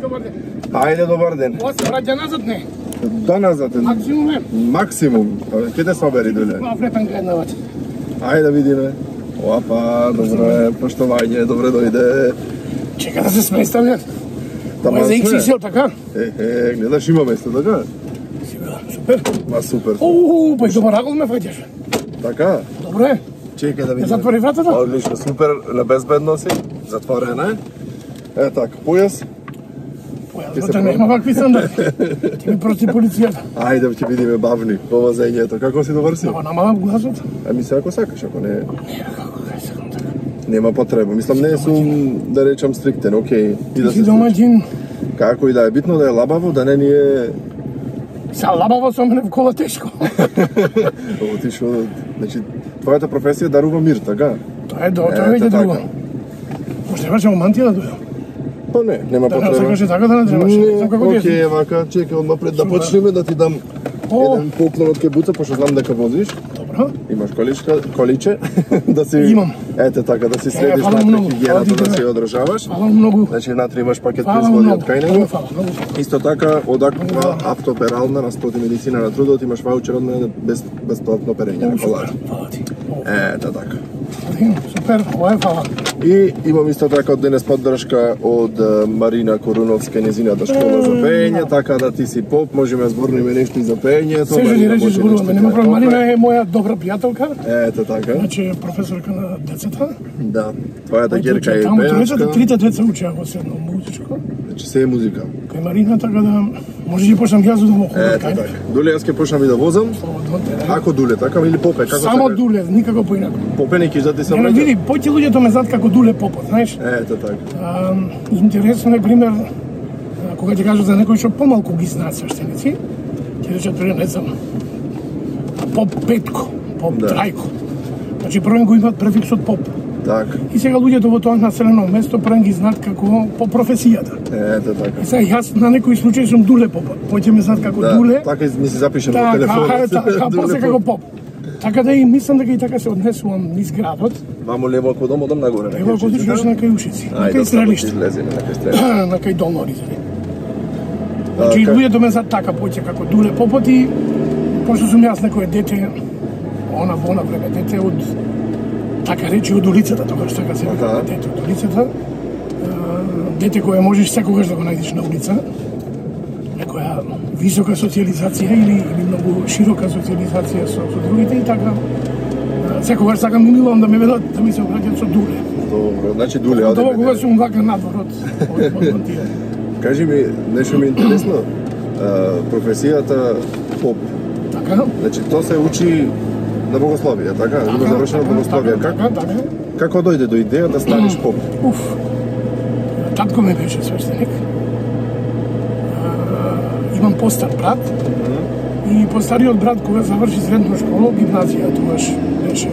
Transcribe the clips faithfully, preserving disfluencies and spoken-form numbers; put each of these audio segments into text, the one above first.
добар ден. Ајде, добар ден. Ова се враќа назад, не? Да, назад. Максимум е. Максимум. Ке те собери, Дуле? Ма врепен гледнавач. Ајде да видиме. Опа, добре, поштовање, добре дојде. Чека да се сместам, ова е за икс икс ел, така? Е, е, гледаш, има место, така? Супер. Ма супер. Оу, па и добар агол ме фаќаш. Така? Добре. Чекај да видиме. Затвори вратата? Одлично, супер, на безбедно си. Затворена е. Е така, појас. Појас, да нема вакви сандари. Ти ми прости полицијата. Ајде ќе видиме бавни по возењето. Како си добар си? Ама намалам гласот. Ами се ако сакаш, ако не... Не, како да сакам така. Нема потреба. Мислам, не сум, да речам, стриктен, окей. Ти си домаќин. Како и да е, битно да е лабаво, да не ни е... Са лабаво со мене в кола тешко. Отишо, значи, твојата професија дарува мир, така? Тоа е до, тоа е веќе друго. Може требаше во мантија да дојдам. Па не, нема Да, потреба. сакаше така да не требаше. Не, Како ти окей, вака, чекай, одма пред да почнеме да ти дам еден поклон од кебуца, пошто знам дека возиш. Добро. Имаш количка, количе, да си... Имам. Ете така, да си следиш фала на многу. хигиената, Фала да ти, си одржаваш. Фала многу. Значи, внатре имаш пакет Фала производи многу. од кај него. Фала многу. Исто така, од Аква автоперална на Спот и медицина на трудот имаш ваучер од мене без бесплатно перење на колар. Фала ти. Ете така. Супер, ова е фала. И имам исто така од денес поддршка од е, Марина Коруновска, незината школа за пеење, така да ти си поп, можеме да зборниме нешто и за пеењето. Се жени речи зборуваме, нема проблем. Марина е моја добра пријателка. Ете така. Значи професорка на децата. Да. Твојата ќерка е Таму пејачка. децата, трите деца учеа во седно музичко. Значи се е музика. Кај Марина, така да може да почнам јас да му ходам Ете кај. така. Дуле, јас ќе почнам и да возам. Слободно, да. Ако Дуле, така или Попе, како Само сакаш? Дуле, никако поинако. Попе не киш да ти се Не, не, враќа? види, поќе луѓето ме знаат како Дуле Попот, знаеш? Ете така. А, интересно е пример, а, кога ќе кажат за некој што помалку ги знаат свештеници, ќе речат пример, не знам, Поп Петко, Поп Да. Трајко. Значи првен го имаат префиксот Поп. Така. И сега луѓето во тоа населено место првен ги знаат како по професијата. Ете така. И сега јас на некој случај сум Дуле Попот. Поќе ме знаат како Да, Дуле. така ми се запишем во Така, телефонот. така, Дуле после Поп. како Поп. Така да и мислам дека и така се однесувам низ градот. Мамо лево ако дом, одам нагоре. на Ево ако Кирчиците. отиш на кај Ушици, на Ајде, кај Стрелиште, излеземе на кај Стрелиште. на кај Долно Оризари. Значи, ка- луѓето ме знаат така поќе како Дуле Попот и пошто сум јас некој дете, она во она време дете од така речи од улицата, тогаш така се вика Аха. дете од улицата. А, Дете кое можеш секогаш да го најдеш на улица. Некоја висока социализација или, или многу широка социализација со, со другите и така. а, Секогаш сакам и милувам да ме ведат да ми се обраќаат со Дуле. Добро, значи Дуле, Тоа оде кога мене. сум вака надвор од од од мантија. Кажи ми, нешто ми е интересно. А, професијата поп. Така? Значи, тоа се учи на богословие, така? Има завршено богословие. Как, Така, така. како дојде до идеја да станеш поп? Уф. Татко ми беше свештеник. А, Имам постар брат. И постариот брат кога заврши средна школа, гимназија, тогаш беше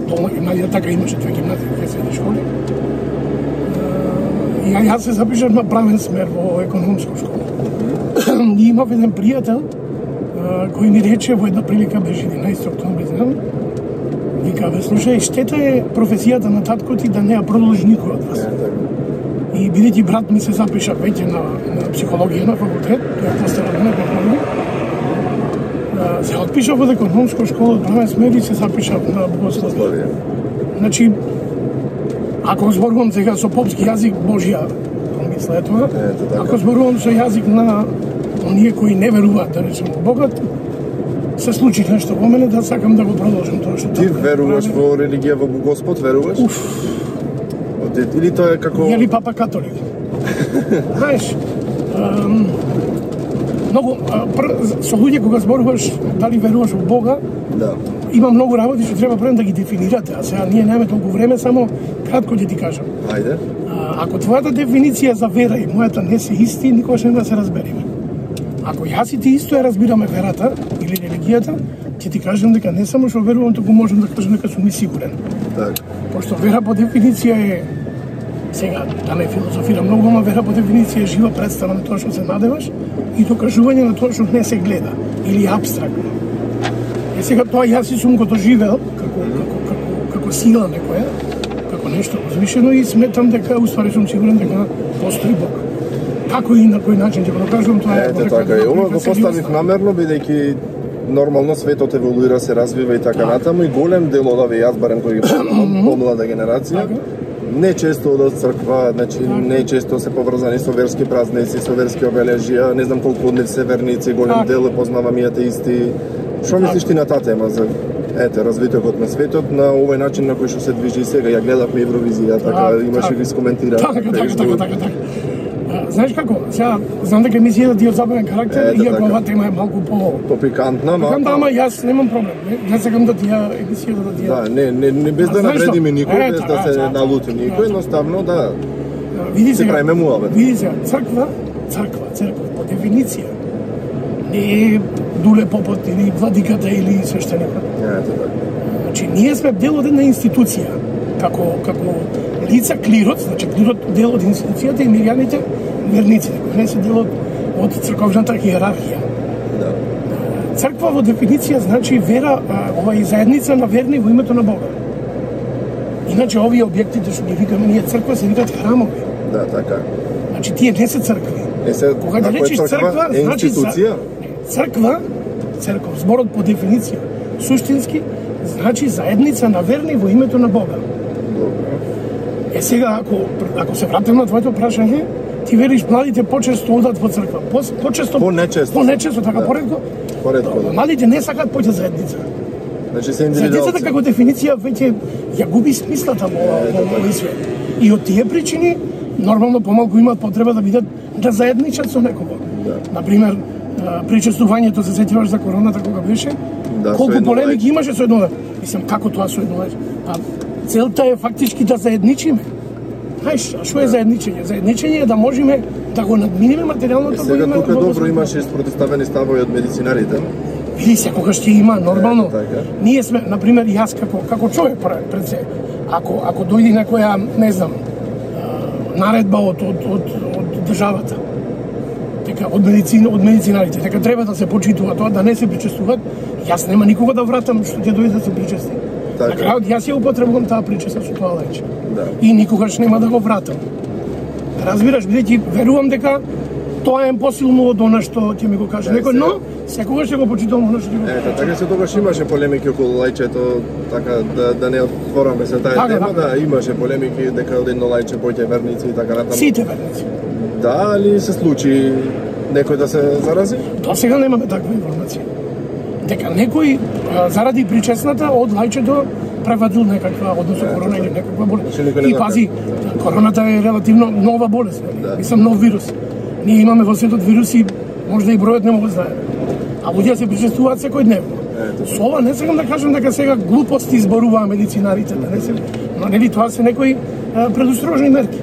долна гимназија, така имаше две гимназии, две средни школи. А, И ја- јас се запишав на правен смер во економска школа. И имав еден пријател а, кој ми рече во една прилика, беше единаесети октомври, знам, вика, бе, слушај, штета е професијата на татко ти да не ја продолжи никој од вас. И бидејќи брат ми се запиша веќе на, на психологија на факултет, тој е постарал на факултет, се отпишав од економска школа од правен смер и се запишав на богословие. Значи, ако зборувам сега со попски јазик, Божја помисла е тоа. Ето така. Ако зборувам со јазик на оние кои не веруваат, да речем, во Богот, се случи нешто во мене да сакам да го продолжам тоа што Ти татко веруваш прави. во религија, во Господ, веруваш? Уф, Од- Или тоа е како... Јели папа католик? Знаеш, ам, многу, а, пр, со луѓе кога зборуваш дали веруваш во Бога, Да. има многу работи што треба прво да ги дефинирате, а сега ние немаме толку време, само кратко ќе ти кажам. Ајде. А, ако твојата дефиниција за вера и мојата не се исти, никогаш не да се разбериме. Ако јас и ти исто ја разбираме верата или религијата, ќе ти кажам дека не само што верувам, туку можам да кажам дека сум и сигурен. Така. Пошто вера по дефиниција е, сега, да не филозофирам многу, ама вера по дефиниција е жива представа на тоа што се надеваш и докажување на тоа што не се гледа или апстрактно. Е сега тоа јас и сум го доживел како, како, како, како сила некоја, како нешто возвишено и сметам дека, уствари сум сигурен дека постои Бог. како и на кој начин ќе го докажувам тоа е. Ете така е. Ова го поставив намерно бидејќи нормално светот еволуира, се развива и така натаму и голем дел од овие јас барем кои ги познавам, помлада генерација, не често од црква, значи не често се поврзани со верски празници, со верски обележја, не знам колку од нив се верници, голем дел познавам и атеисти. Што мислиш ти на таа тема за ете развитокот на светот на овој начин на кој што се движи сега? Ја гледавме Евровизија, така имаше ви скоментира. Така, така, така, така, така. Знаеш како, сега знам дека емисијата ти е од забавен карактер, иако оваа тема е малку по попикантна, малку. Ама јас немам проблем, не сакам да ти ја емисијата да ти ја. Да, не, не, не без да навредиме никој, без да се налути никој, едноставно да. Види сега, правиме муабет. Види сега, црква, црква, црква по дефиниција не е Дуле Попот или владиката или свештеникот. Ете така. Значи ние сме дел од една институција, како како лица клирот, значи клирот дел од институцијата и мирјаните верниците, кои не се дел од, од црковната иерархија. Да. Црква во дефиниција значи вера, ова е заедница на верни во името на Бога. Иначе овие објектите што ги викаме ние црква се викаат храмови. Да, така. Значи тие не се цркви. Е се, кога да речеш црква, е значи институција? Црква, црков, зборот по дефиниција, суштински значи заедница на верни во името на Бога. Е сега, ако, ако се вратим на твоето прашање, ти вериш младите почесто одат во црква. По, почесто, по-нечесто. По-нечесто, така, да. Поредко? Поредко, да. Младите не сакаат поќе заедница. Значи се индивидуалци. Заедницата како дефиниција веќе ја губи смислата во овој свет. И од тие причини, нормално помалку имаат потреба да бидат да заедничат со некого. Да. Например, причестувањето, се сетиваш за короната кога беше? Да, колку полемики имаше со едно. Мислам, како тоа со едно? А целта е фактички да заедничиме. Знаеш, а што е заедничење? Заедничење е да можеме да го надминеме материјалното. Сега тука добро имаше спротиставени ставови од медицинарите. Види се, кога ќе има нормално. Ние сме, например, јас како како човек пред се, ако ако дојде некоја, не знам, наредба од од од од државата, дека од медицина, од медицинарите, дека треба да се почитува тоа, да не се причестуваат, јас нема никога да вратам што ќе дојде да се причести. На крајот јас ја употребувам таа причеста со тоа леќе. Да. И никогаш нема да го вратам. Разбираш, бидејќи верувам дека тоа е посилно од она што ќе ми го каже некој, но секогаш ќе го почитувам она што ќе го каже. Ето, така се тогаш имаше полемики околу лајчето, така да да не отвораме се таа така, тема, така. Да, имаше полемики дека од едно лајче поќе верници и така натаму. Сите верници. Да, али се случи некој да се зарази? До сега немаме таква информација. Дека некој заради причесната од лајчето превадил некаква, односно корона или некаква болест. И пази, короната е релативно нова болест, да. Мислам нов вирус. Ние имаме во светот вируси, можда и бројот не го знае. А луѓе се причестуваат секојдневно. Со ова не сакам да кажам дека сега глупости изборуваа медицинарите, да не се, но нели тоа се некои предострожни мерки.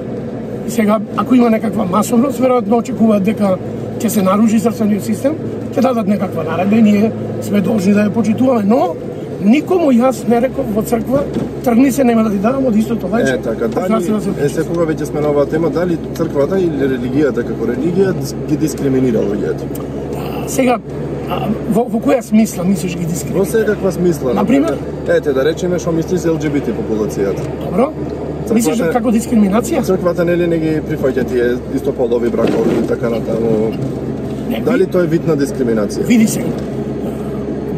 И сега, ако има некаква масовност, веројатно очекуваат дека ќе се наруши срцениот систем, ќе дадат некаква наредба и ние сме должни да ја почитуваме, но никому јас не реков во црква, тргни се, нема да ти дадам од истото лајче. Е, така, дали, е, се кога веќе сме на оваа тема, дали црквата или религијата како религија ги дискриминира луѓето? Сега, во, во која смисла мислиш ги дискриминира? Во секаква смисла. Например? Ете, да речеме што мисли за Ел Џи Би Ти популацијата. Добро. Мислиш како дискриминација? Црквата нели не ги прифаќа тие истополови бракови и така натаму. Дали тоа е вид на дискриминација? Види се.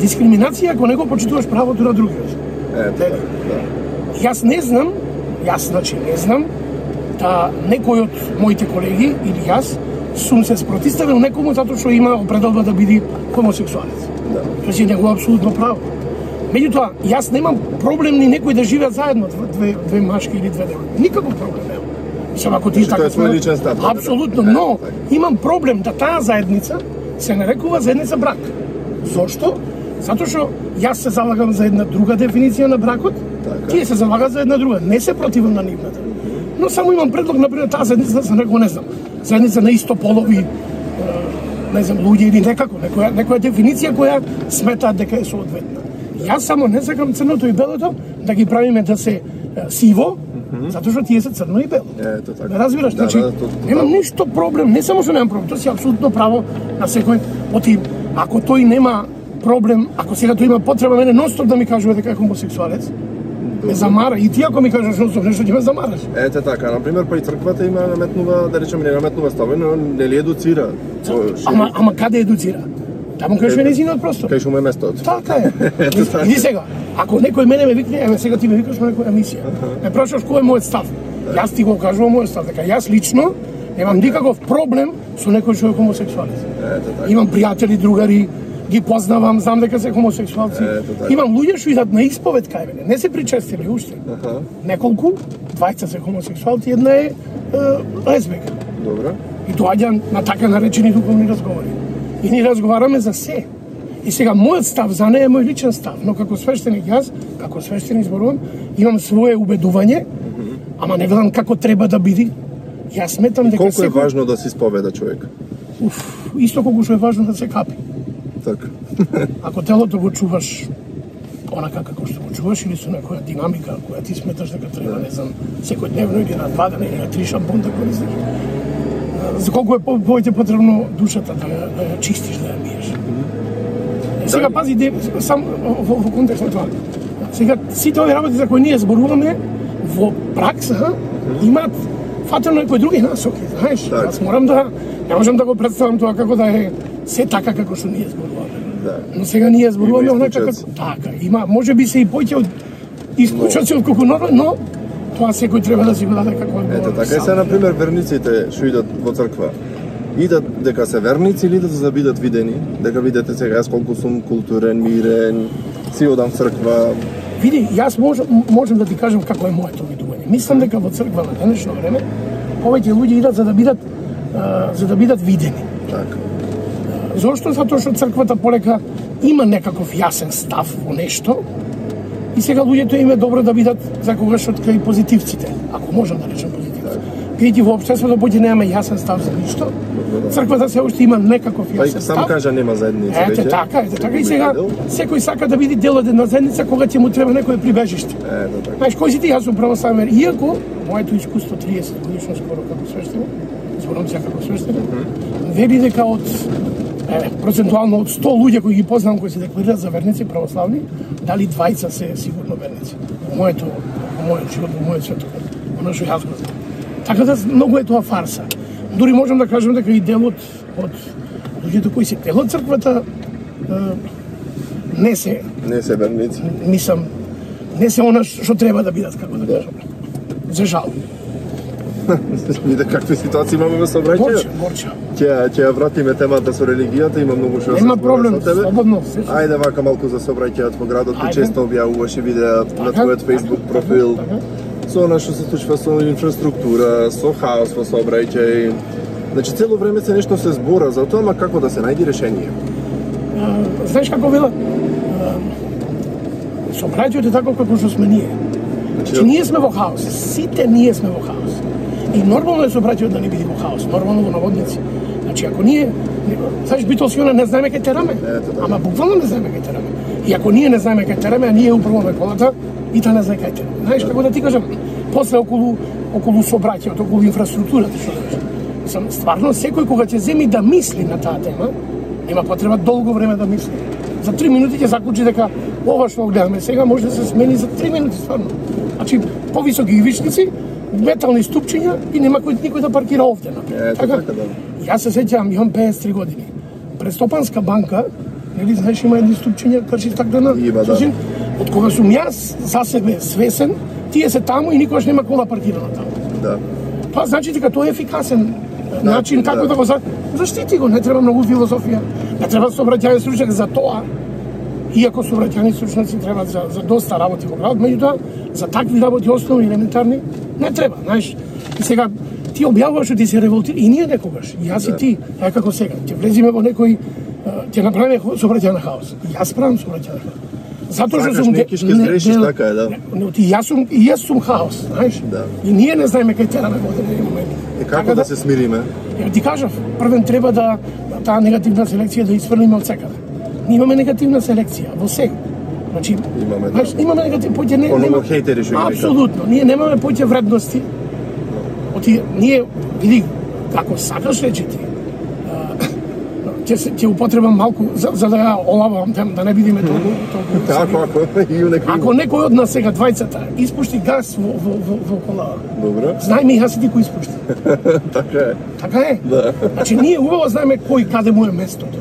Дискриминација ако не го почитуваш правото на другиот. Ете, да. Јас не знам, јас значи не знам да некој од моите колеги или јас сум се спротиставил некому затоа што има определба да биде хомосексуалец. Да. Тоа си негово апсолутно право. Меѓутоа, јас немам проблем ни некој да живеат заедно две две машки или две девојки. Никаков проблем немам. Мислам, ако ти така тоа е личен став. Апсолутно, но имам проблем да таа заедница се нарекува заедница брак. Зошто? Затоа што јас се залагам за една друга дефиниција на бракот, така. Тие се залагаат за една друга. Не се противам на нивната. Но само имам предлог, например, таа заедница да се нарекува, не знам, заедница на истополови, не знам, луѓе или некако, некоја, некоја дефиниција која сметаат дека е соодветна. Јас само не сакам црното и белото да ги правиме да се сиво, mm-hmm. затоа што тие се црно и бело. Ето така. Не разбираш, да, значи, да, то, то, немам ништо проблем, не само што немам проблем, тоа си апсолутно право на секој, оти, ако тој нема проблем, ако сега тој има потреба мене ностоп да ми кажува дека е хомосексуалец, ме замара. И ти ако ми кажеш носов нешто, ќе ме замараш. Ете така, на пример, па и црквата има наметнува, да речеме, не наметнува стави, но не ли едуцира? Ама, ама каде едуцира? Таму кај што е нејзиниот простор. Кај што му е местото. Така е. Иди сега, ако некој мене ме викне, еве сега ти ме викаш на некоја емисија. Ме прашаш кој е мојот став. Јас ти го кажувам мојот став, дека јас лично немам никаков проблем со некој што е хомосексуалист. Имам пријатели, другари, ги познавам, знам дека се хомосексуалци. Имам луѓе што идат на исповед кај мене, не се причестили уште. Неколку, двајца се хомосексуалци, една е лесбика. Добро. И доаѓа на така наречени духовни разговори. И ни разговараме за се. И сега мојот став за неја е мој личен став, но како свештеник јас, како свештеник зборувам, имам свое убедување, ама не гледам како треба да биде. Јас сметам дека колку е секој... важно да се исповеда човек? Уф, исто колку што е важно да се капи. Така. Ако телото го чуваш онака како што го чуваш или со некоја динамика која ти сметаш дека треба, не знам, секојдневно или на два дена или на три шампон да користиш, за колку е повеќе потребно душата да ја, да ја чистиш, да ја миеш. И сега пази, де, сам во, во контекст на тоа. Сега сите овие работи за кои ние зборуваме во пракса имаат фатено некои други насоки, знаеш. Јас морам да не можам да го представам тоа како да е се така како што ние зборуваме. Да. Но сега ние зборуваме онака како така. Има можеби се и поќе од исклучоци од колку норма, но тоа секој треба да си го даде како одговор. Ете така и се на пример верниците што идат во црква. Идат дека се верници или идат за да бидат видени, дека видите сега јас колку сум културен, мирен, си одам црква. Види, јас можам, можам да ти кажам како е моето видување. Мислам дека во црква на денешно време повеќе луѓе идат за да бидат а, за да бидат видени. Така. Зошто? Затоа што црквата полека има некаков јасен став во нешто и сега луѓето им е добро да бидат за когаш од кај позитивците, ако можам да речем позитивци. Бидејќи во општеството поќе немаме јасен став за ништо, црквата се уште има некаков јасен став. Сам кажа нема заедница веќе. Ете така, ете така и сега секој сака да биде дел од една заедница кога ќе му треба некое прибежиште. Ете така. Знаеш, кој си ти, јас сум православен, иако моето искуство триесет годишно скоро како свештеник, зборувам се како свештеник, вели дека од е, процентуално од сто луѓе кои ги познавам кои се декларираат за верници православни, дали двајца се сигурно верници. Во моето, во мојот живот, во мојот светоглед, оно што јас го знам. Така да многу е тоа фарса. Дури можам да кажам дека и делот од луѓето кои се дел од црквата не се не се верници. Мислам, не се она што треба да бидат, како да кажам. За жал. Виде какви ситуации имаме во собранието. Горче, горче. Ќе ќе ја вратиме темата со религијата, има многу што да се Нема проблем, слободно. Ајде вака малку за собранието во градот, ти често објавуваше видеа на твојот Facebook профил. Со она што се случува со инфраструктура, со хаос во сообраќај. Значи цело време се нешто се збора за тоа, ама како да се најди решение? Знаеш како велат? Сообраќајот е тако како што сме ние. Значи ние сме во хаос, сите ние сме во хаос. И нормално е сообраќајот да не биде во хаос, нормално во наводници. Значи ако ние, знаеш, битолсиона не знаеме кај тераме, ама буквално не знаеме кај тераме. И ако ние не знаеме кај тераме, а ние управуваме колата, и та не знае кај тераме. Знаеш како да ти кажам, после околу околу сообраќајот, околу инфраструктурата што кажеш. Мислам, стварно секој кога ќе земи да мисли на таа тема, нема потреба долго време да мисли. За три минути ќе заклучи дека ова што гледаме сега може да се смени за три минути стварно. Значи повисоки ивичници, метални ступчиња и нема кој никој да паркира овде напред. Така, така да. Јас се сеќавам, имам пеесет и три години. Престопанска банка, нели знаеш има едни ступчиња кажи стаклена. Има, да. Од кога сум јас за себе свесен, тие се таму и никогаш нема кола паркирана таму. Да. Тоа значи дека тоа е ефикасен да, начин како да, да го за... заштити го, не треба многу филозофија, не треба сообраќајен стручњак за тоа. Иако сообраќајни стручњаци треба за, за доста работи во градот, меѓутоа за такви работи основни елементарни не треба, знаеш. И сега ти објавуваш што ти се револтира и ние некогаш, и јас да. И ти, е како сега, ќе влеземе во некој, ќе направиме сообраќајен хаос. И јас правам сообраќајен хаос. Затоа што сум неки ќе сгрешиш така е, да. Не, ти јас сум и јас сум хаос, знаеш? Да. И ние не знаеме кај тераме во одредени моменти. И како така да, да се смириме? Ја ти кажав, првен треба да таа негативна селекција да испрлиме од секаде. Ние имаме негативна селекција во се. Значи, имаме, знаеш, да. имаме негатив, поќе не нема хейтери што ги апсолутно, ние немаме поќе вредности. Оти ние види како сакаш речи ти. ќе се ќе употребам малку за, за да ја олавам тем, да не бидиме толку толку. Ако ако и некој Ако некој од нас сега двајцата испушти газ во во во, во кола. Добро. Знаеме јас и ти кој испушти. Така е. Така е? Да. Значи ние убаво знаеме кој каде му е местото.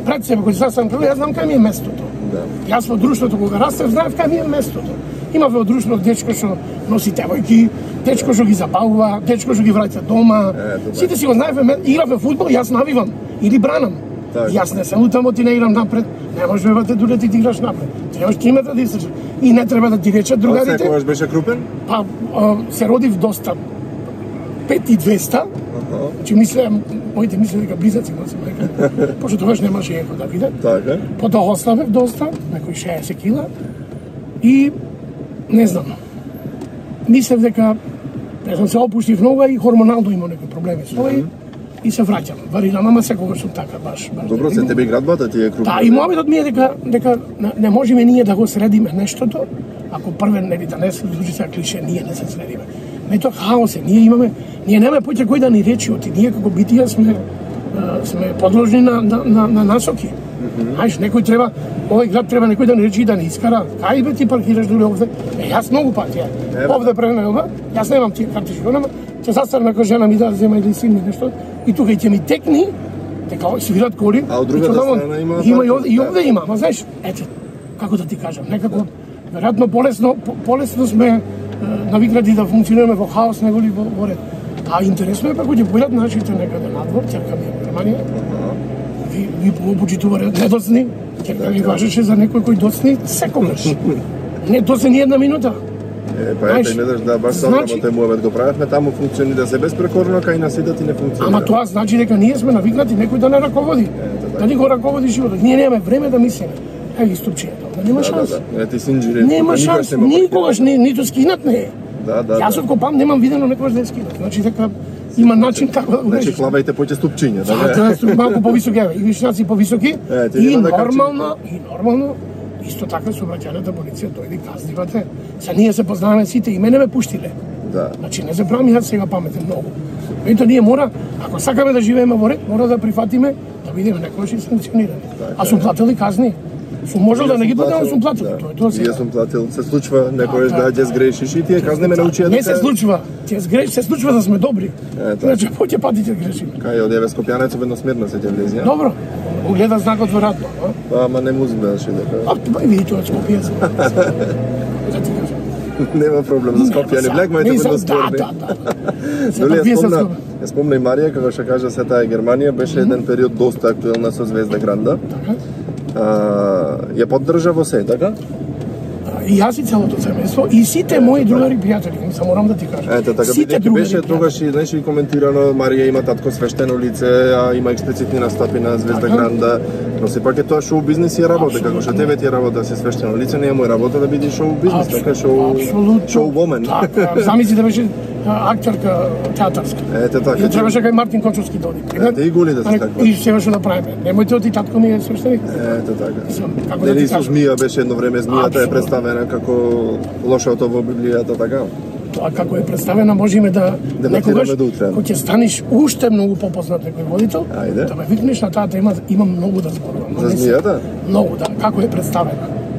Пред себе кој сасам прво јас знам кај ми е местото. Да. Јас во друштвото кога растев знаев кај ми е местото. Има во друштво дечко што носи девојки, дечко што ги забавува, дечко што ги враќа дома. Е, Сите си го знаевме, игравме фудбал, јас навивам или бранам. Так. Јас не сум таму ти не играм напред. Не можеш да те дуле ти играш напред. Требаш три метра да изтрчаш. И не треба да ти речат другарите. Секогаш беше крупен? Па а, се родив доста пет и двеста. Значи мислеа, моите мислеа дека близаци носим, дека пошто тогаш немаше еко да видат. Така. Потоа ослабев доста, некои шеесет кила. И не знам. Мислев дека не знам, се опуштив многу и хормонално има некои проблеми со тоа и се враќам. Варирам, ама секогаш сум така баш. баш Добро, се тебе градбата ти е крупна. Да, и мовитот ми е дека дека не, не можеме ние да го средиме нештото, ако првен нели да не се звучи сега клише, ние не се средиме. Не тоа хаос е, ние имаме, ние немаме поќе кој да ни речи оти, ние како битија сме а, сме подложни на на на, на насоки. Знаеш, некој треба, овој град треба некој да ни речи да ни искара. Кај бе ти паркираш доле овде? Е, јас многу пати ја. Овде пренелба, јас немам тие карти што немам. Ќе заставам како жена ми да зема или син ми нешто и тука ќе ми текни дека свират коли. А од другата страна има има и овде, и овде има, ма знаеш, ете, како да ти кажам, некако веројатно полесно полесно сме е, навикнати да функционираме во хаос него ли во, во ред. А интересно е па кога ќе појдат нашите некаде надвор, ќерка ми е Германија. Ви ви почитувале недоцни, ќерка ми кажеше за некој кој доцни секогаш. Не доцни ни една минута. Е, па ете, гледаш да баш сам значи, работа муавет го правевме, таму функционира се безпрекорно, кај на сите ти не функционира. Ама тоа значи дека ние сме навикнати некој да не раководи. Да ни го раководи животот. Ние немаме време да мислиме. Еви ступчињето. Нема шанс. Да, да, да. Ти си инженер. Нема шанс. Никогаш не ниту скинат не е. Да, да. Јас од копам немам видено некогаш да е скинат. Значи дека има начин како да го Значи решиш. клавајте поќе ступчиња, да Да, не? тоа е малку повисоки, еве, и вишњаци повисоки. Е, ти И нема да нормално, и нормално исто така сообраќајната полиција дојде казнивате. Се ние се познаваме сите и мене ме пуштиле. Да. Значи не забравам јас сега паметен многу. Меѓутоа ние мора, ако сакаме да живееме во ред, мора да прифатиме да бидеме некогаш и санкционирани. А сум платил кazни. Сум можел да не ги платам, сум платил. Тоа е тоа сега. Јас сум платил. Се случува некојаш Да, да да, ќе сгрешиш и тие казни ме научија Не се случува. Ти сгреш, се случува да сме добри. Е, така. Значи поќе пати ќе грешиме. Кај од Еве Скопјанец ведно смирно се ќе влези, ја? Добро. Угледа знакот веројатно, а? Па, ама не му гледаше дека. А тоа види тоа Скопје. Да ти кажам. Нема проблем за Скопјани Блек, мајте Не, ведно да, спорни. да, да. Доли ја Вие се спомна, спомна. ја спомна и Марија како што кажа се таа Германија беше еден период доста актуелна со Звезда Гранда. Така. А, ја поддржа во се, така? И јас и целото семејство и сите мои другари пријатели, мислам морам да ти кажам. Ете, така Сите бидејќи другари беше пријатели. тогаш и знаеш и коментирано Марија има татко свештено лице, а има експлицитни настапи на Звезда Така. Гранда. Но сепак е тоа шоу бизнес и работа, Апсолутно. како што тебе ти е работа да си свештено лице, не е моја работа да биде шоу бизнес, Апсолутно. така шоу Апсолутно. шоу woman. Така, замисли да беше а, актерка театарска. Ете така. И да требаше кај Мартин Кончовски да оди. Ете, и голи да се таква. И сега што да правиме? Немојте оти татко ми е свештеник. Ето така. Мислам, како да Нели ти со кажам? змија беше едно време змијата е Апсолутно. представена како лошото во Библијата, така? Тоа како е представена можеме да Дебатираме некогаш до утре. кога ќе станеш уште многу попознат некој водител, Ајде. да ме викнеш на таа тема, имам многу да зборувам. За змијата? Многу да, како е представена.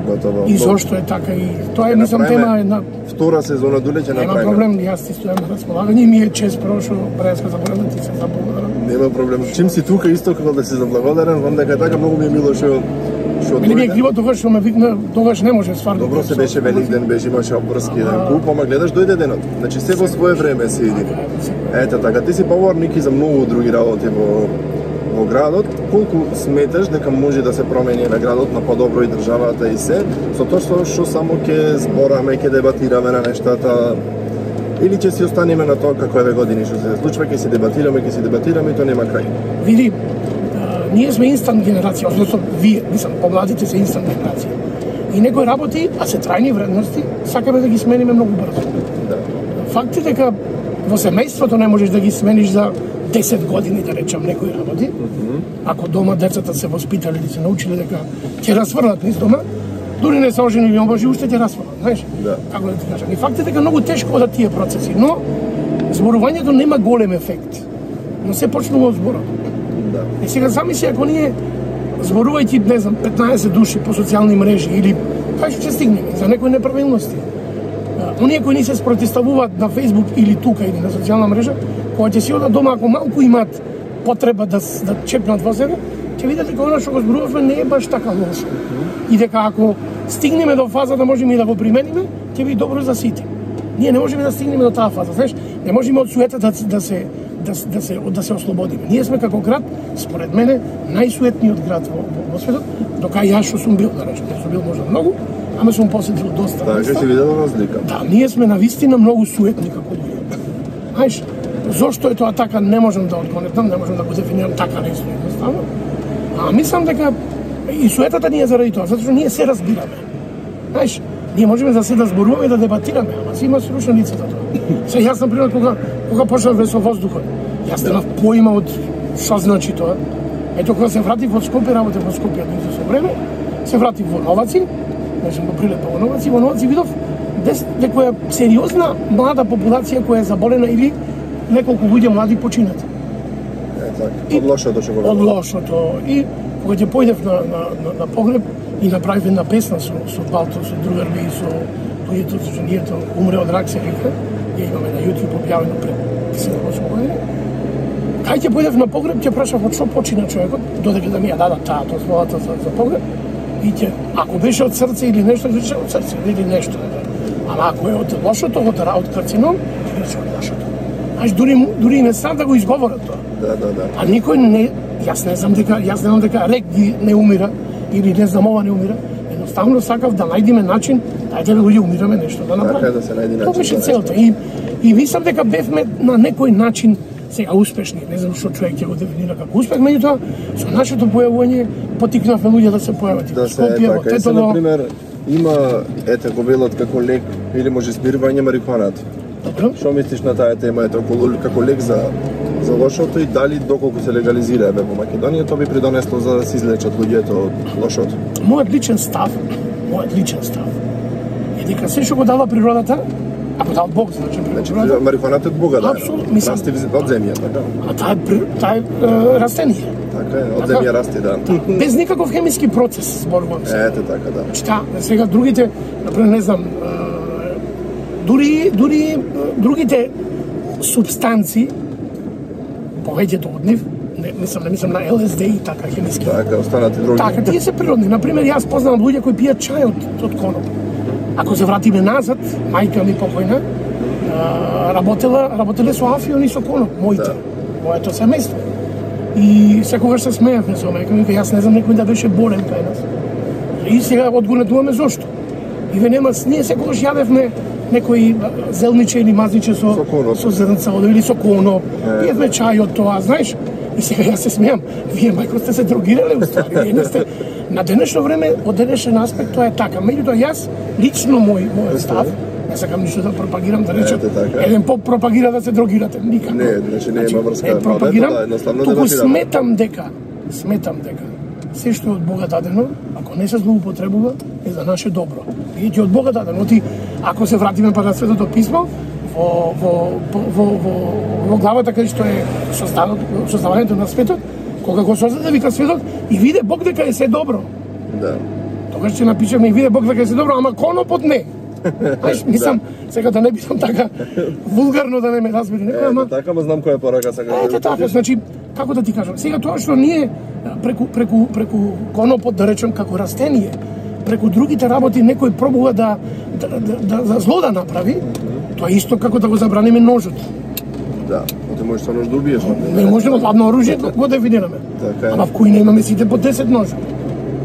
Готово. И зошто е така и тоа е мислам тема една Втора сезона дуле ќе нема направиме. проблем, јас ти стојам на располагање и ми е чест прво што Бреска заборам да ти се заблагодарам. Нема проблем. Чим си тука исто како да си заблагодарен, вам дека е така многу ми е мило што што Мене ми е дојде. криво тогаш што ме викна, тогаш не може стварно. Добро се беше Великден, беше имаше обврски еден куп, ама гледаш дојде денот. Значи се во свое време се иди. Ете така, ти си поворник и за многу други работи во во градот. Колку сметаш дека може да се промени на градот на подобро и државата и се, со тоа што, што само ќе збораме, ќе дебатираме на нештата, или ќе си останеме на тоа како еве години што се случува, ќе си дебатираме, ќе си дебатираме и тоа нема крај. Види, а, ние сме инстант генерација, односно вие, мислам, помладите се инстант генерација. И некои работи, а се трајни вредности, сакаме да ги смениме многу брзо. Да. Факт е дека во семејството не можеш да ги смениш за десет години, да речам, некои работи. Ако дома децата се воспитале или се научиле дека ќе расфрлат низ дома, дури не се оженили, омбожи уште ќе расфрлат, знаеш? Да. Како да ти кажам? И факт е дека многу тешко одат тие процеси, но зборувањето нема голем ефект. Но се почнува од зборот. Да. И сега замисли ако ние зборувајќи, не знам, петнаесет души по социјални мрежи или кај што ќе стигнеме за некои неправилности. Оние кои ни се спротивуваат на Facebook или тука или на социјална мрежа, кога ќе си одат дома, ако малку имаат потреба да да чепнат во себе, ќе видите дека она што го зборувавме не е баш така лошо. И дека ако стигнеме до фаза да можеме и да го примениме, ќе биде добро за сите. Ние не можеме да стигнеме до таа фаза, знаеш, не можеме од суетата да, да се да, да се да се ослободиме. Ние сме како град, според мене, најсуетниот град во, во, во светот, дока јас што сум бил, да речем, не сум бил можда многу, ама сум посетил доста. Така ќе видел разлика. Да, ние сме навистина многу суетни како луѓе. Знаеш, зошто е тоа така, не можам да одгонетам, не можам да го дефинирам така нешто едноставно. А мислам дека и суетата ни е заради тоа, затоа што ние се разбираме. Знаеш, ние можеме за се да зборуваме и да дебатираме, ама си има срушна лицата тоа. Се јас на пример кога кога почнав со воздухот, јас немав поима од што значи тоа. Ето кога се вратив од Скопје, работев во Скопје од со време, се вратив во Новаци, не сум го прилепа во Новаци, во Новаци видов дека е сериозна млада популација која е заболена или неколку луѓе млади починати. Е, така, од лошото што го Од лошото. И кога ќе појдев на, на, на, на погреб и направив една песна со, со Балто, со другарби и со луѓето, со женијето, умре од рак се вика, ја имаме на YouTube објавено пред седум-осум години. Кај ќе појдев на погреб, ќе прашав од што почина човекот, додека да ми ја дадат таа дозволата за, за погреб, и ќе, ако беше од срце или нешто, ќе рече од срце или нешто. Ама ако е од лошото, од, од карцином, ќе рече од лошото. Знаеш, дури, дури не сам да го изговорат тоа. Да, да, да. А никој не, јас не знам дека, јас не знам дека рек ги не умира, или не знам ова не умира, едноставно сакав да најдеме начин, дајте луѓе умираме нешто да направиме. Така да се најде начин. Тоа беше целта. И, и мислам дека бевме на некој начин сега успешни, не знам што човек ќе го дефинира како успех, меѓутоа со нашето појавување поттикнавме луѓе да се појават. Да се е така. И се, например, има, ете, го велат како лек или може смирување марихуанат. Добро. Што мислиш на таа тема, ето, како лек за за лошото и дали доколку се легализира еве во Македонија, тоа би придонесло за да се излечат луѓето од лошото? Мојот личен став, мојот личен став е дека се што го дава природата, а го дава Бог, значи Значи, марихуаната од Бога, да. Апсолутно, мислам. Расти од земја, така? А таа е, таа е растение. Така е, од земја расти, да. Без никаков хемиски процес, зборувам се. Ете така, да. Значи, таа, сега другите, например, не знам, дури, дури другите субстанци, повеќето од нив, не мислам, не мислам на Ел Ес Ди и така хемиски. Така, останати други. Така, тие се природни. Например, јас познавам луѓе кои пијат чај од, од коноп. Ако се вратиме назад, мајка ми покојна, работела, работеле со афион и со коноп, моите, да. Моето семејство. И секогаш се смеевме со мајка ми, јас не знам некој да беше болен кај нас. И сега одгонетуваме зошто. И ве нема, ние секогаш јадевме некои зелниче или мазниче со, со, со зрнца или со коноп, пиевме чај од тоа, знаеш. И сега јас се смеам, вие мајко сте се дрогирале уствари, вие не сте. На денешно време, од денешен аспект, тоа е така. Меѓутоа, јас, лично мој, мој став, не сакам ништо да пропагирам, да речем, еден поп пропагира да се дрогирате, никако. Не, значи не има врска. Е, пропагирам, да, туку сметам дека, сметам дека, се што е од Бога дадено, ако не се злоупотребува, е за наше добро. Бидејќи од Бога дадено, ти, ако се вратиме па на Светото писмо, во, во, во, во, во главата кај што е создавањето на светот, кога го создаде вика светот и виде Бог дека е се добро. Да. Тогаш ќе напишеме и виде Бог дека е се добро, ама конопот не. Знаеш, мислам, сега да не бидам така вулгарно да не ме разбери некој, ама така, ма знам која порака сакаш. Ете така, значи, како да ти кажам, сега тоа што ние преку преку преку конопот да речем како растение, преку другите работи некој пробува да да, да, да, да зло да направи, тоа е исто како да го забраниме ножот. Да, ти можеш со нож да убиеш. Не можеме ладно оружје да го дефинираме. Така е. Ама в кој немаме сите по десет ножа.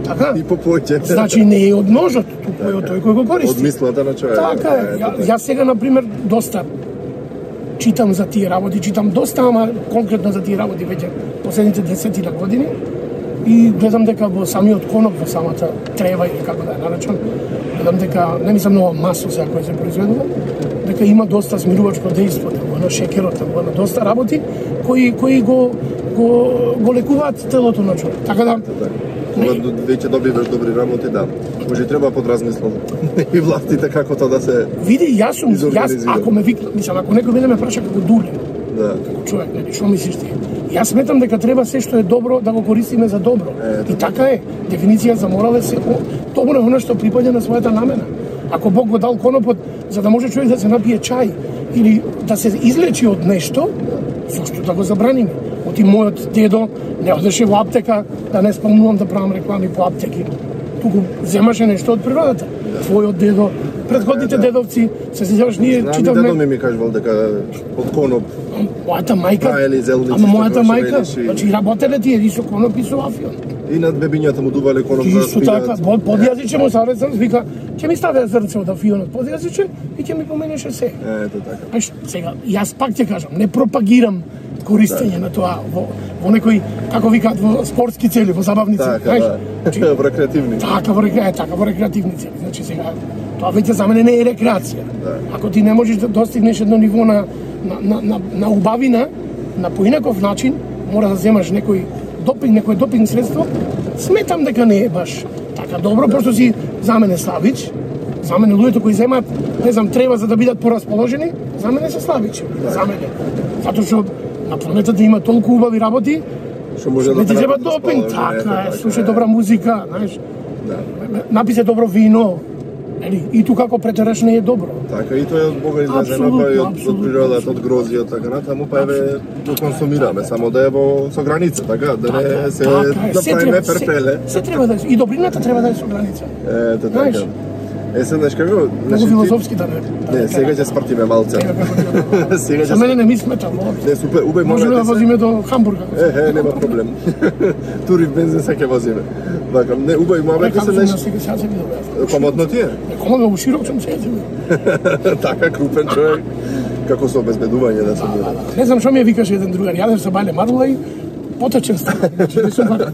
Така? И по поќе. Значи не е од ножот, туку е од тој кој го користи. Од мислата на човек. Така е. Ја, јас сега, например, доста читам за тие работи, читам доста, ама конкретно за тие работи веќе последните десетина години. И гледам дека во самиот коноп, во самата трева или како да ја наречам, гледам дека, не мислам нова масо сега која се произведува, дека има доста смирувачко дејство, во на шекерот, во на доста работи кои кои го го го лекуваат телото на човек. Така да кога веќе добиваш добри работи, да. Може треба подразмислам и властите како тоа да се види, јас сум, јас ако ме викна, мислам, ако некој мене ме праша како дуле, Да. Како човек, нели, што мислиш ти? Јас сметам дека треба се што е добро да го користиме за добро. Е, И така е. Дефиниција за морал е се добро е она што припаѓа на својата намена. Ако Бог го дал конопот за да може човек да се напие чај или да се излечи од нешто, зошто да го забраниме? Оти мојот дедо не одеше во аптека, да не спомнувам да правам реклами по аптеки. Туку земаше нешто од природата. Твојот дедо, предходните дедовци, се сеќаваш ние Знам, читавме. дедо ми ми кажувал дека од коноп Мојата мајка, Праели зелници, ама мојата што мајка, велиш и- значи работеле тие и со коноп и со афион. и над бебињата му дувале коноп за да Исто така, под подјазиче му сарецам, вика, ќе ми стави зрнце од афионот подјазиче и ќе ми поменеше се. Ето така. Знаеш, сега, јас пак ќе кажам, не пропагирам користење на тоа во, во некои, како викаат, во спортски цели, во забавни цели. Така, да. Значи, Во рекреативни. така во рекреација, така во рекреативни цели. Значи сега тоа веќе за мене не е рекреација. Да. Ако ти не можеш да достигнеш едно ниво на на на на, на убавина, на поинаков начин, мора да земаш некој допинг, некој допинг средство, сметам дека не е баш така добро, пошто си за мене слабич. За мене луѓето кои земаат, не знам, треба за да бидат порасположени, за мене се слабичи. За мене. Затоа што на планетата има толку убави работи, Што може не ти да треба да допинг, спава, ето така е, така, слушај е. добра музика, знаеш, Да. напи се добро вино, нели, и тука како претераш не е добро. Така и тоа е од Бога излажено, Апсолутно, па и од, од апсолутно, природата, од грозија, така натаму, па еве го консумираме, само да е во со граница, така, да не се Така е, да се правиме треба- се- перпеле. Се треба да е, и добрината треба да е со граница. Ето Знаеш, така. Е, се знаеш како? Многу Значи, ти- филозофски да не. да Не, сега ќе спртиме малце. Сега како ќе- Сега За ќе мене не ми смета воопшто. Не, супер, убај Можеме да момент. возиме до Хамбург. ако се- Е, е, нема проблем. Тури в бензин се ќе возиме. Така, не, убај Е, момент како се сум неш. на сега сега се видов јас. Комодно ти е? Некома ме широк сум се езим. Така крупен човек. Како со обезбедување да се биде. Не знам што ми ја викаше еден другар. Јадев со Бале Марла и потечен стан. Значи, не сум вака.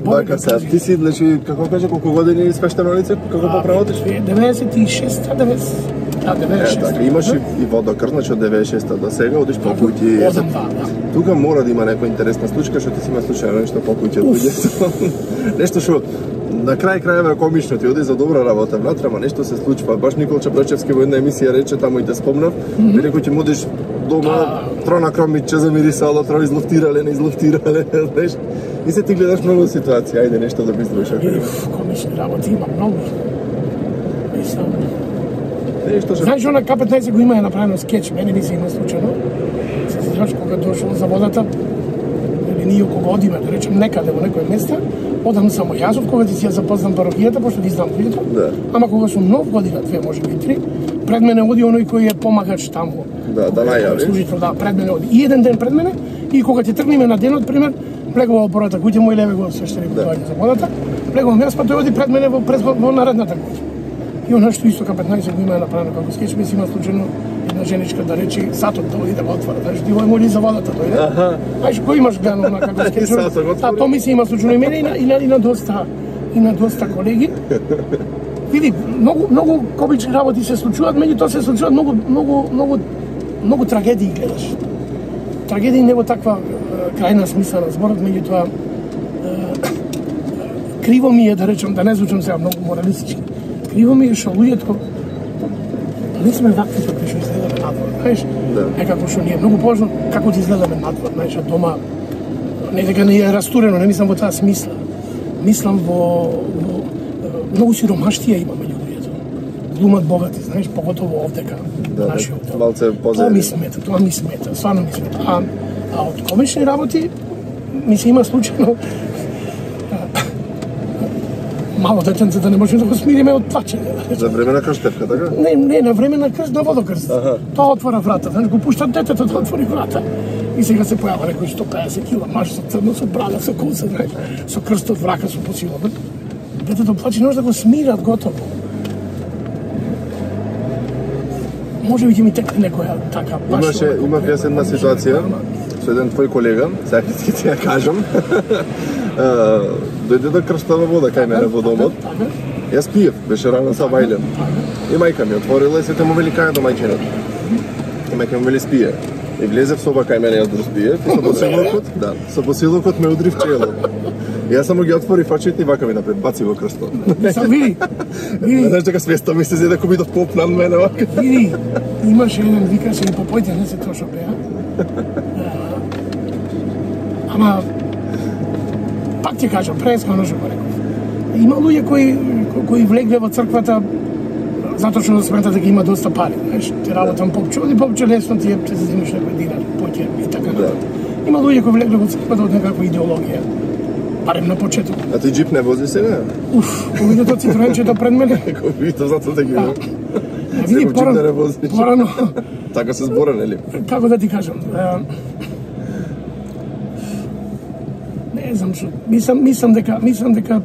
Вака сега, ти си, значи, како каже, колку години свештено лице, како поправотиш? деветдесет и шеста, деветдесет. Да, Е, деветдесет и шеста. така, имаш и, и водокр, значи од деветдесет и шеста до сега, одиш по куќи. Одам, да, да. Тука мора да има некоја интересна случка, што ти си има случајно нешто по куќи од луѓето. Нешто што на крај крајeva е комично, ти оди за добра работа внатре, ама нешто се случува. Баш Никол Чапречевски во една емисија рече, таму и те спомнав, вели кој ќе му одиш дома, трона кромиче замирисало, тро излуфтирале, не излуфтирале, знаеш. И се ти гледаш многу ситуации, ајде нешто да биструваш. И комични работи има многу. Мислам. Нешто што Знаеш, она К петнаесет го има е направено скеч, мене ми се има случајно. Се сеќаваш кога дошол за водата, или ние кога одиме, да речем некаде во некој место, одам само јас, од кога ти си ја запознам парохијата, пошто ги знам луѓето. Да. Ама кога сум нов, година, две, може би три, пред мене оди оној кој е помагач таму. Да, да најави. Служител, да, пред мене оди. И еден ден пред мене, и кога ќе тргнеме на денот, пример, плегува опората куќа, мој леве го свештени Да. за водата, плегувам јас, па тој оди пред мене во, пред, во наредната куќа. И она што исто К петнаесет го има е направено како скеч, ми си има случајно една женичка да речи сатот да оди да го отвора, знаеш, ти ој моли за водата дојде. Аха. Знаеш, кој имаш гледано на како скеч? Сатот го отвори. Да, тоа ми се има случајно и мене и на, и на, и на доста и на доста колеги. Види, многу многу комични работи се случуваат, меѓутоа се случуваат многу многу многу многу трагедии гледаш. Трагедии не во таква е, крајна смисла на зборот, меѓутоа е, криво ми е да речам, да не звучам сега многу моралистички. Криво ми е што луѓето не сме вакви како што изгледаме надвор, знаеш? Да. Некако што ни е многу поважно како да изгледаме надвор, знаеш, а дома не дека не е растурено, не мислам во таа смисла. Мислам во, во е, многу сиромаштија има меѓу луѓето. Глумат богати, знаеш, поготово овдека, Да, нашиот дел. малце Тоа позади. ми смета, тоа ми смета, стварно ми смета. А, а од комични работи ми се има случајно мало детенце да не можеме да го смириме од плачење. За време на крштевка, така? Не, не, на време на крст, на водокрст. Аха. Тоа отвора врата, знаеш, го пуштат детето да отвори врата. И сега се појава некој сто песет кила маж со црно, со брада, со коса, знаеш, со крстот врака, со посилот. Детето плаче, не може да го смират готово. Може би ќе ми текне некоја така баш. Имаше, овако имав јас една ситуација со еден твој колега, сега ќе ти ја кажам. А, дојде да крштава вода кај мене во домот. Така, Јас пиев, беше рано са бајлем. И мајка ми отворила и се те му вели кај до мајчинот. И мајка ми вели спие. И влезе в соба кај мене јас да спиев и со посилокот, да, со посилокот ме удри в чело. И јас само ги отворив очите и вака ми напред баци во крстот. Сам види, види, Знаеш дека свеста ми се зеде ко бидов поп над мене вака. види, имаше еден викаше и попојте, не се тоа што беа. Ама пак ти кажам, преискрено што го реков. Има луѓе кои кои влегле во црквата затоа што сметат дека има доста пари, знаеш, ти работам попче, и попче лесно ти е те зазимаш некој динар, поќе и така натаму. Има луѓе кои влегле во црквата од некаква идеологија, барем на почеток. А ти джип не вози сега? Уф, кога види тоа цитроенчето пред мене. Кога види тоа затоа те ги. Види порано, порано. Така се збора, нели? Како да ти кажам? Не знам што, мислам, мислам дека, мислам дека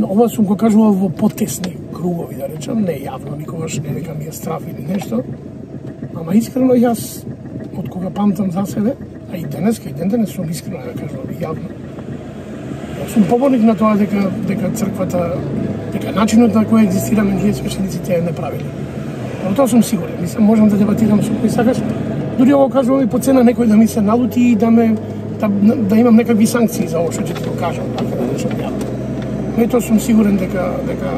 ова сум го кажувал во потесни кругови, да речам, не јавно, никогаш не дека ми е страф или нешто. Ама искрено јас, од кога памтам за себе, а и денеска, и ден денес сум искрено да кажувам јавно. Сум поборник на тоа дека дека црквата, дека начинот на кој екзистираме ние свештениците е неправилен. Но тоа сум сигурен, мислам можам да дебатирам со кој сакаш. Дури ово кажувам и по цена некој да ми се налути и да ме да, да имам некакви санкции за ово што ќе ти го кажам, така да речам јавно. Но и тоа сум сигурен дека дека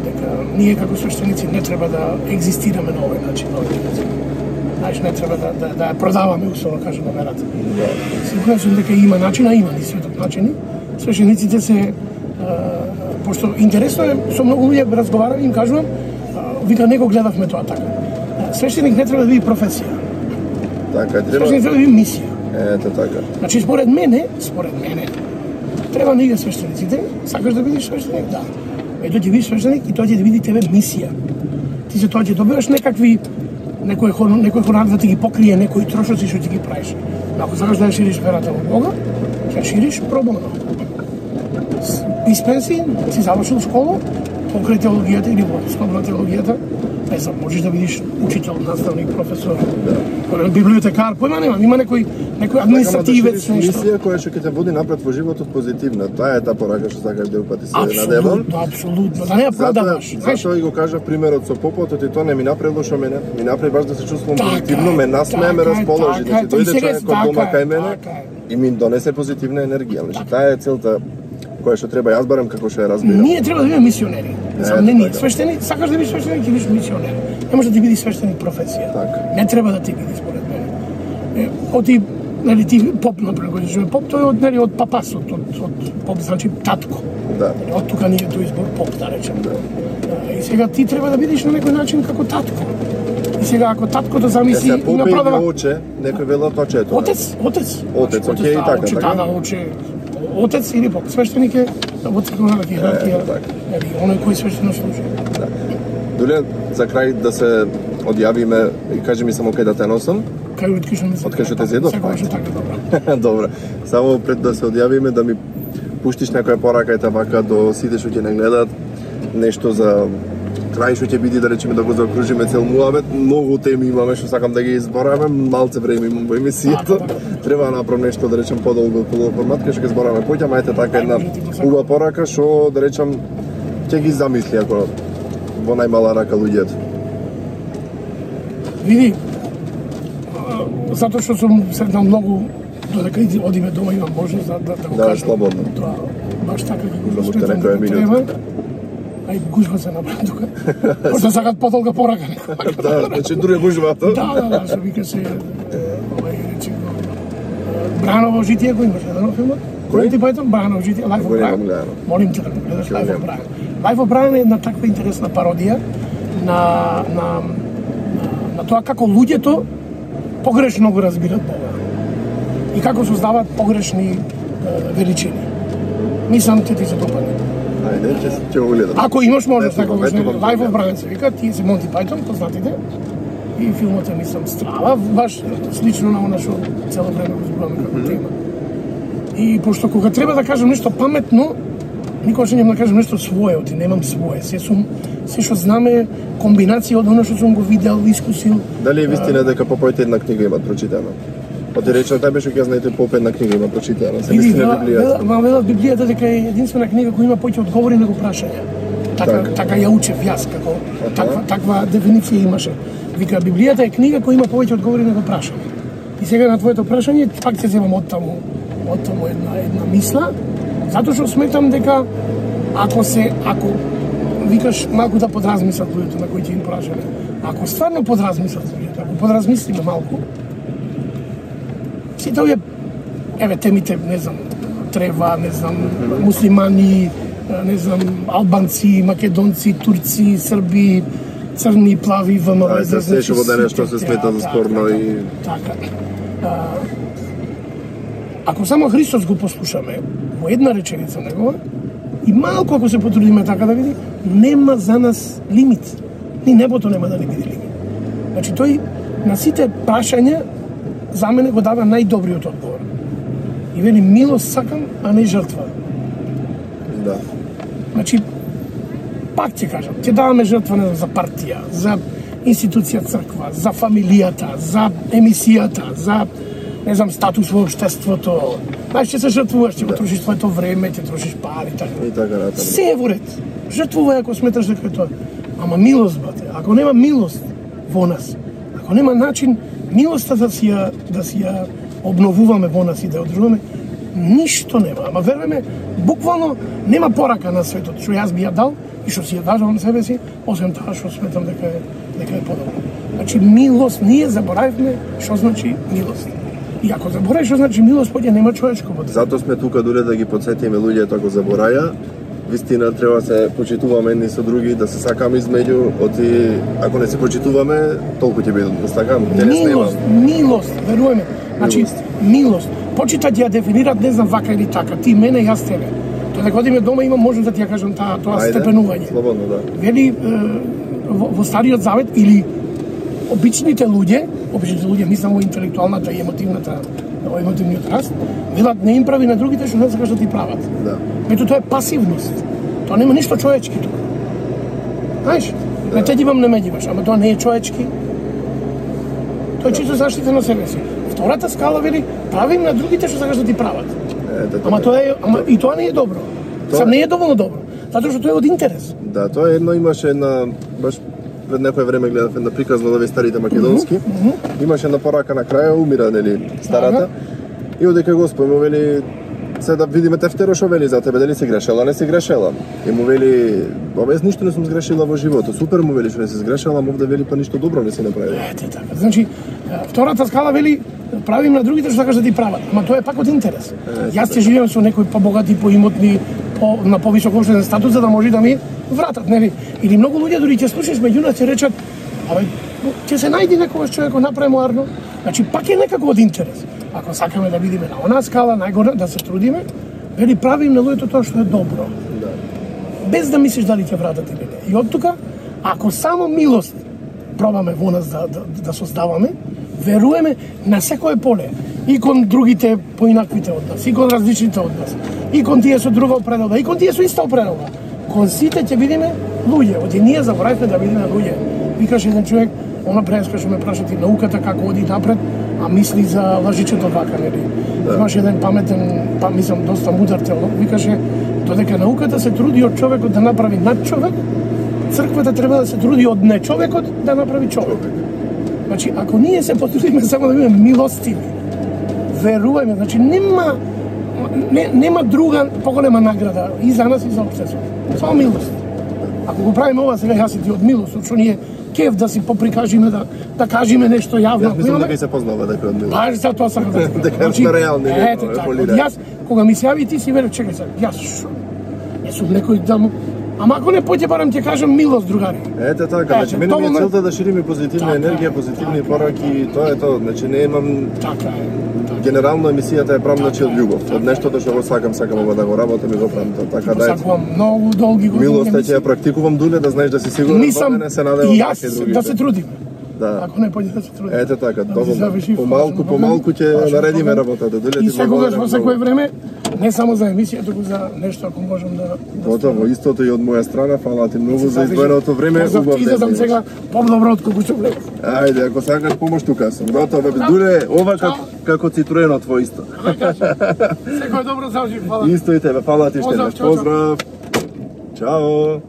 дека ние како свештеници не треба да екзистираме на овој начин, на овој начин. Знаеш, не треба да да, да ја продаваме, условно кажано, верата. Сигурен сум дека има начин, а има ни светот начини. Свештениците се а, пошто интересно е, со многу луѓе разговарам и им кажувам, а, вика не го гледавме тоа така. Свештеник не треба да биде професија. Така треба. Свештеник треба да биде мисија. Ето така. Значи според мене, според мене, треба да иде свештениците, сакаш да бидеш свештеник, да. Ето ќе бидеш свештеник и тоа ќе да биде тебе мисија. Ти за тоа ќе добиваш некакви некој хор, некој хонор да ти ги покрие некои трошоци што ти ги правиш. Ако сакаш да ја шириш верата во Бога, ќе шириш пробоно. Из пенсии си завршил школа, покрај теологијата или во основа на теологијата, не знам, можеш да видиш учител, наставник, професор, да. библиотекар, појма немам, има некој некој административец, нешто. Мисија која ќе те води напред во животот позитивна. Таа е таа порака што сакаш да упати се надевам. Апсолутно, апсолутно. Да не ја продаваш. Зашто и го кажа примерот со попотот и тоа не ми направило што мене, ми направи баш да се чувствувам позитивно, ме насмеа, ме расположи, значи дојде човекот дома кај мене и ми донесе позитивна енергија. Значи таа е целта која што треба јас барам како што ја разбирам. Ние треба да бидеме мисионери. Сам не ние свештеник, сакаш да бидеш свештеник, ќе бидеш мисионер. Не може да ти биде свештеник професија. Так. Не треба да ти биде според мене. Оти нели ти поп например, кој што е поп, тој е од нели од папасот, од, од поп значи татко. Да. Од тука ни е тој избор поп, да речем. Да. И сега ти треба да бидеш на некој начин како татко. И сега ако таткото замисли и направува оче, некој вело тоа ето. Отец, отец. Отец, окей, така, оче, така. Да, оче, отец или поп, свештеник е во црквената иерархија. Нели, оној кој свештено служи. Да. Дуле, за крај да се одјавиме и кажи ми само кај да те носам. Кај од кај Од кај што те зедов? Секогаш така добро. Добро. Само пред да се одјавиме да ми пуштиш некоја порака и така до сите што ќе не гледаат, нешто за крај што ќе биде да речеме да го закружиме цел муабет. Многу теми имаме што сакам да ги избораме, малце време имам во емисијата. Треба да направам нешто да речем подолго по формат кај што ќе збораме поќе, ама ете така една убава порака што да речам ќе ги замисли ако во најмала рака луѓето. Види, затоа што сум сретнал многу додека одиме дома имам можност да, да, да го да, кажам. слободно. Тоа, баш така како го Можете сметам некоја дека треба. минута. Ај гужва се направи тука. Може сакат подолга порака. Да, значи друга гужвата. Да, да, да, што вика се овај рече го Браново житие го имаше еден филмот. Кој ти Пајтон Браново житие, Life of Brian. Молим те да го гледаш Life of Brian. Life of Brian е една таква интересна пародија на на на тоа како луѓето погрешно го разбират Бога. И како создаваат погрешни е, величини. Мислам ќе ти се допадне. Ајде, ќе ќе го гледам. Ако имаш можност некогаш ето, Life of Brian се вика, тие се Монти Пајтон, познатите. И филмот е мислам страва, баш слично на она што цело време го зборуваме како тема. И пошто кога треба да кажам нешто паметно, никогаш не да кажам нешто свое, оти немам свое. Се сум се што знаме комбинација од оно што сум го видел, искусил. Дали е вистина дека попоите една книга имат прочитана? Оти рече тај беше ќе знаете поп една книга има прочитана. Се мисли на Библијата. Ма велат Библијата дека е единствена книга која има повеќе одговори на прашања. Така Так. така ја учев јас како таква таква дефиниција имаше. Вика Библијата е книга која има повеќе одговори на прашања. И сега на твоето прашање пак ќе земам од таму од таму една една мисла, затоа што сметам дека ако се ако викаш малку да подразмислат луѓето на кои ќе им прашаме. Ако стварно подразмислат луѓето, ако подразмислиме малку, сите овие, еве темите, не знам, трева, не знам, муслимани, не знам, албанци, македонци, турци, срби, црни, плави, ВМВ, за се што во денешно се смета за спорно и така. Ако само Христос го послушаме во една реченица негова и малку ако се потрудиме така да види, нема за нас лимит. Ни небото нема да ни биде лимит. Значи тој на сите прашања за мене го дава најдобриот одговор. И вели милост сакам, а не жртва. да. Значи пак ќе кажам, ќе даваме жртва не знам, за партија, за институција црква, за фамилијата, за емисијата, за не знам статус во општеството. Знаеш, ќе се жртвуваш, ќе го трошиш твоето време, ќе трошиш пари така. И така натаму. Се е во ред. Жртвувај ако сметаш дека е тоа. Ама милост, бате, ако нема милост во нас, ако нема начин милоста да си ја да си ја обновуваме во нас и да ја одржуваме, ништо нема. Ама верваме, буквално нема порака на светот што јас би ја дал и што си ја дажам себе си, освен тоа што сметам дека е дека е подобро. Значи милост, ние заборавивме што значи милост. И ако заборавиш што значи милост, поќе нема човечко во тоа. Затоа сме тука дуре да ги потсетиме луѓето ако забораја. Вистина треба се почитуваме едни со други, да се сакаме измеѓу, оти ако не се почитуваме, толку ќе биде да сакам, ќе не снема. Милост, милост, веруваме. Значи милост. милост. Почитат ја дефинират не знам вака или така, ти мене, јас тебе. Тоа дека одиме дома има можност да ти ја кажам таа тоа Ајде, степенување. Слободно, да. Вели во, во Стариот Завет или обичните луѓе, обичните луѓе мислам во интелектуалната и емотивната, во емотивниот раст, велат не им прави на другите што не сакаш да ти прават. Да. Мето тоа е пасивност. Тоа нема ништо човечки тука. Знаеш? Да. Не те дивам, не ме диваш, ама тоа не е човечки. Тоа е чисто заштита на себе си. Втората скала вели правим на другите што сакаш да ти прават. Е, да, Ама тоа е, ама и тоа не е добро. Тоа Сам е. не е доволно добро. Затоа што тоа е од интерес. Да, тоа е едно имаше една баш пред некое време гледав една приказна од овие старите македонски. Mm -hmm. Имаше една порака на крај, умира нели старата. Ага. И одека Господ му вели се да видиме тефтеро што вели за тебе, дали си грешела, не си грешела. И му вели, обез ништо не сум сгрешила во животот. Супер му вели што не си сгрешела, ама овде вели па ништо добро не си направила. Ете така. Значи, втората скала вели правим на другите што сакаш да ти прават, ама тоа е пак од интерес. Ете, Јас ќе живеам со некои побогати, поимотни, по на повисок општествен статус за да може да ми вратат, нели? Или многу луѓе дури ќе слушаш меѓу нас ќе речат, абе ќе се најде некогаш човек кој направи муарно. Значи пак е некако од интерес. Ако сакаме да видиме на онаа скала најгоре да се трудиме, вели правим на луѓето тоа што е добро. Да. Без да мислиш дали ќе вратат или не. И од тука, ако само милост пробаме во нас да, да, да создаваме, веруваме на секое поле. И кон другите поинаквите од нас, и кон различните од нас, и кон тие со друга опредоба, и кон тие со иста опредоба. Кон сите ќе видиме луѓе. Оди ние заборавивме да видиме луѓе. Викаш еден човек, она преска што ме праша ти науката како оди напред, а мисли за лажичето вака, нели? Да. Имаше еден паметен, па мислам доста мудар теолог, викаше додека науката се труди од човекот да направи над човек, црквата треба да се труди од не човекот да направи човек. Значи, ако ние се потрудиме само да бидеме милостиви, верувајме, значи нема не, нема друга поголема награда и за нас и за општеството. Само милост. Ако го правиме ова сега јас и ти од милост, што ние кеф да си поприкажиме да да кажеме нешто јавно. Јас мислам дека и се познава дека од милост. Баш за тоа сакам да ти дека сме реални, ете така. Јас кога ми се јави ти си велев чекај сега, јас шо? Не сум некој да му Ама ако не поќе барам ќе кажам милост, другари. Ете така, значи мене ми е целта да шириме позитивна така, енергија, позитивни пораки, тоа е тоа. Значи не имам Така е. генерално емисијата е правам значи од љубов. Од нештото што го сакам, сакам ова да го работам и го правам тоа. Така да е. Сакувам многу долги години. Милоста ќе ја практикувам дуле да знаеш да си сигурен, Нисам не се надевам и така јас другите. да се трудим. Да. Ако не поќе да се трудим. Ете така, Да тоа се заврши помалку, фаза, помалку ќе Баш, наредиме добро. работата. Дуле И ти секогаш во благодарам секое многу. време, не само за емисија, туку за нешто ако можам да да Готово, истото и од моја страна, фала ти многу за заврши. издвоеното време, Позов убав ти ден. излезам имаш. сега подобро од колку што влез. Ајде, ако сакаш помош тука сум. Готово, бе, дуле, ова како како цитруено твој исто. Секој добро заврши, фала. Исто и тебе, фала ти Поздрав, штеднаш. чао, чао. Поздрав. Чао.